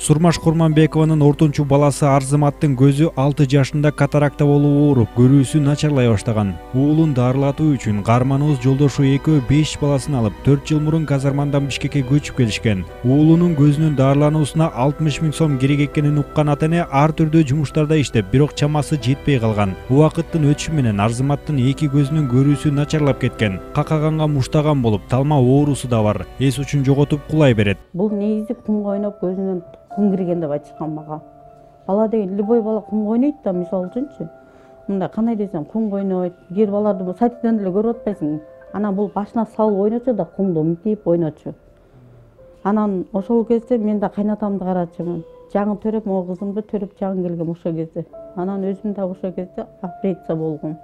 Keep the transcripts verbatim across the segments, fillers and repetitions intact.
Сурмаш Курманбекованын ортончу баласы Арзыматтын көзү алты жашында катаракта болуп ооруп, көрүүсү начарлай баштаган. Уулун дарылатуу үчүн каарманыбыз жолдошу экөө беш баласын алып төрт жыл мурун Казармандан Бишкекке көчүп келишкен. Уулунун көзүнүн дарылануусуна алтымыш миң сом керек экенин уккан ата эне ар түрдүү жумуштарда иштеп, бирок чамасы жетпей калган. Убакыттын өтүшү менен Арзыматтын эки көзүнүн көрүүсү начарлап кеткен. Какаганга муштаган болуп, талма оорусу да бар. Эс учун жоготуп кулай берет. Бул негизи кумга ойноп көзүнөн кум кирген деп айтышкан мага. Бала деген любой бала кумга ойнойт да, мисалы үчүнчү. Мындай кандай десем, кумга ойнойт. Кээ бир баларды сайтидан деле көрүп атпайсың. Анан бул башына салып ойночу да, кумду мынтип ойночу. Анан ошол кезде мен да кайнатамды карачумун. Жаңы төрөп, могу кызымды төрөп жаңы келгем ошол кезде. Анан өзүм да ошол кезде операция болгом.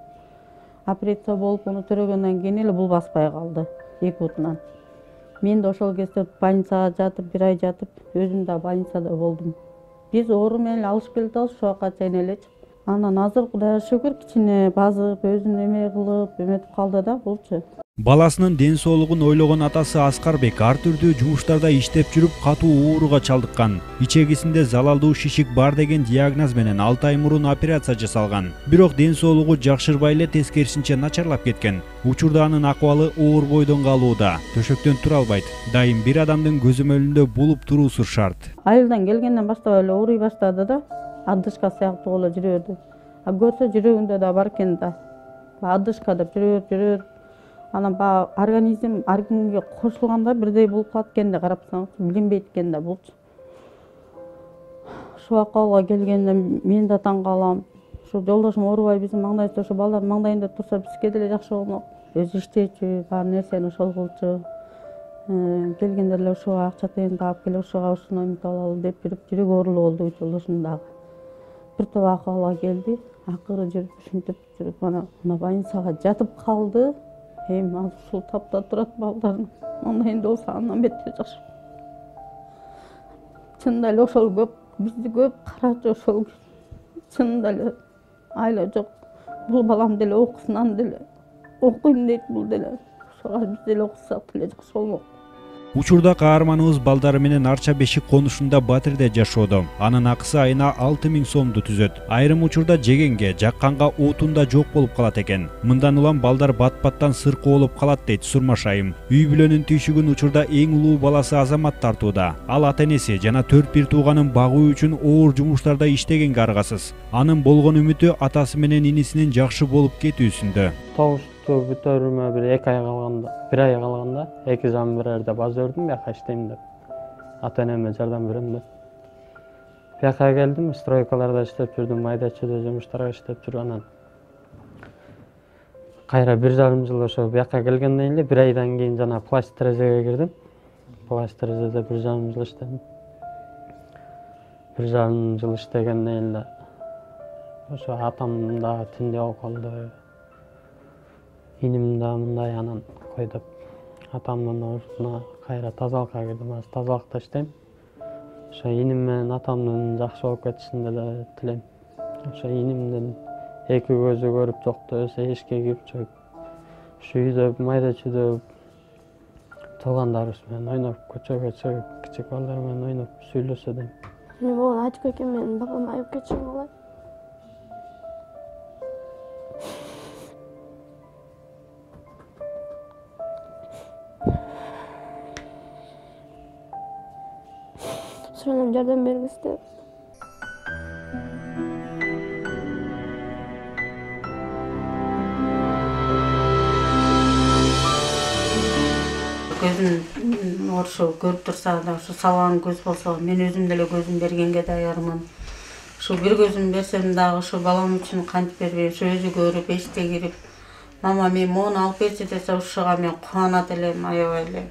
Операция болуп, аны төрөгөндөн кийин эле бул баспай калды эки бутунан. Мен да ошол кезде больницага жатып, бир ай жатып, өзүм да больницада болдум. Биз оору менен алышып келатабыз, ошол жака чейин эле. Анан азыр Кудайга шүгүр кичине базып, өзүн эме кылып, эметип калды да булчу. Баласынын ден соолугун ойлогон атасы Аскарбек ар түрдүү жумуштарда иштеп жүрүп катуу ооруга чалдыккан. Ичегисинде залалдуу шишик бар деген диагноз менен алты ай мурун операция жасалган. Бирок ден соолугу жакшырбай эле тескерисинче начарлап кеткен. Учурда анын акыбалы оор бойдон калууда. Төшөктөн тура албайт. Дайым бир адамдын көзөмөлүндө булуп туруусу шарт. Айылдан келгенден баштап эле ооруй баштады да, адышка сыяктуу болуп жүрө берди. А көрсө жүрөгүндө да бар экен да. Адышка деп жүрө жүрө. Анан баягы организм ар кимге кошулганда бирдей болуп калат экен да, карапсаң, билинбейт экен да булчу. Ушул акыбалга келгенде мен да таң калам. Ушу жолдошум оорубай биздин маңдайыбызда, ошо балдар маңдайында турса бизге деле жакшы болмок. Өзү иштечү, баары нерсени ошол кылчу. Келгенде эле ушуга акча тыйын таап келип, ушуга ушуну эметип алалы деп жүрүп, жүрөгү оорулуу болду жолдошум дагы. Бир топ акыбалга келди, акыры жүрүп, ушинтип жүрүп, анан больницага жатып калды. Эми азыр ушул тапта турат балдардын маңдайында болсо андан бетер жакшы. Чынында эле ошол көп, бизди көп карачу ошол. Чынында эле айла жок. Бул балам деле окусун, аны деле окуйм дейт бул деле. Ошого биз деле окусак деле жакшы болмок. Учурда каарманыбыз балдары менен Арча Бешик конушунда Батирде жашоодо. Анын акысы айына алты миң сомду түзөт. Айрым учурда жегенге, жакканга отун да жок болуп калат экен. Мындан улам балдар бат-баттан сыркоо болуп калат дейт Сурмаш айым. Үй бүлөнүн түйшүгүн учурда эң улуу баласы Азамат тартууда. Ал ата энеси жана төрт бир тууганын багуу үчүн оор жумуштарда иштегенге аргасыз. Анын болгон үмүтү атасы менен инисинин жакшы болуп кетүүсүндө. Бүтөрүмө бир эки ай калганда, бир ай калганда эки жам бирерде баз өрдүм, бияка иштейм деп. Ата энеме жардам берем деп. Бияка келдим, стройкаларда иштеп жүрдүм, майда-чүйдө жумуштарга иштеп жүрүп анан кайра бир жарым жыл ошо бияка келгенден эле бир айдан кийин жана пласт терезеге кирдим. Пласт терезеде бир жарым жыл иштедим. Бир жарым жыл иштегенден эле ошо атам да тиндей болуп калды. Иним да мындай, анан кой деп атамдын ордуна кайра тазалыкка кирдим. Азыр тазалыкта иштейм. Ошо иним менен атамдын жакшы болуп кетишин деле тилейм. Ошо инимдин эки көзү көрүп жокту эсе эшикке кирип чыгып, ушу үйдө майда-чүйдө туугандарыбыз менен ойноп, көчөгө чыгып, кичик балдар менен ойноп сүйлөшө дейм. Мен болгон айтып кеткен, менин бабам айып кетишин каалайм. Ошондон жардам бериңиз деп. Көзүн ошо көрүп турса да, ошо салган көз болсо, мен өзүм деле көзүм бергенге даярмын. Ушул бир көзүм берсем дагы ошо балам үчүн кантип бербейм, ошо өзү көрүп, эшикте кирип, мама мен моуну алып берчи десе, ушуга мен кубанат элем, аябай эле.